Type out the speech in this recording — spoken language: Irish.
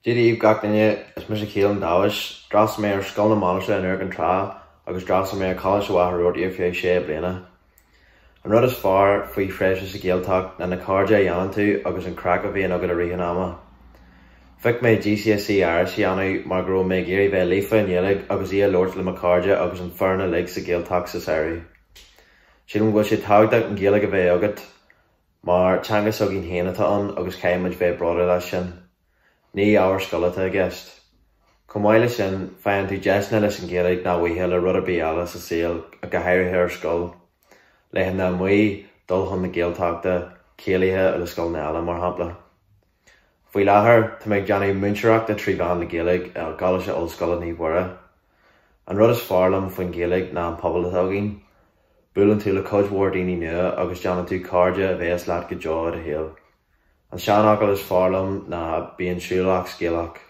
Dia daoibh gach duine, is mise Keelan Dawes. D'fhreastail mé ar Scoil na Mainistre in Iúr Cinn Trá agus d'fhreastail mé ar Choláiste Mhachaire Rabhartaigh ar feadh sé bliana. An rud is fearr faoi thréimhse sa Ghaeltacht ná na cairde a dhéanann tú agus an craic a bhíonn agat i rith an ama. Phioc mé GCSE Irish a dhéanamh mar go raibh mé ag iarraidh bheith líofa i nGaeilge agus í a labhairt le mo chairde agus an foireann uilig sa Ghaeltacht sa samhradh. Sílim go bhfuil sé tábhachtach an Ghaeilge a bheith agat mar teanga s'againn féin atá ann agus caithfidh muid bheith bródúil as sin. Ní ábhar scoile atá i gceist. Chomh maith leis sin, faigheann tú deiseanna leis an Ghaeilge nach bhfaighfeá le rud ar bith eile sa saol, go háirithe ar scoil. Laethanta amuigh, dul chun na Gaeltachta, céilithe le scoileanna eile, mar shampla. Faoi láthair, tá mé ag déanamh múinteoireachta trí mheán na Gaeilge i gColáiste Ollscoile Naomh Mhuire. An rud is fearr liom faoin Ghaeilge ná an pobal atá againn. Buaileann tú le cuid mhór daoine nua agus déanann tú cairde a bheas leat go deo i do shaol. An seanfhocal is fearr liom ná 'Bíonn siúlach scéalach'.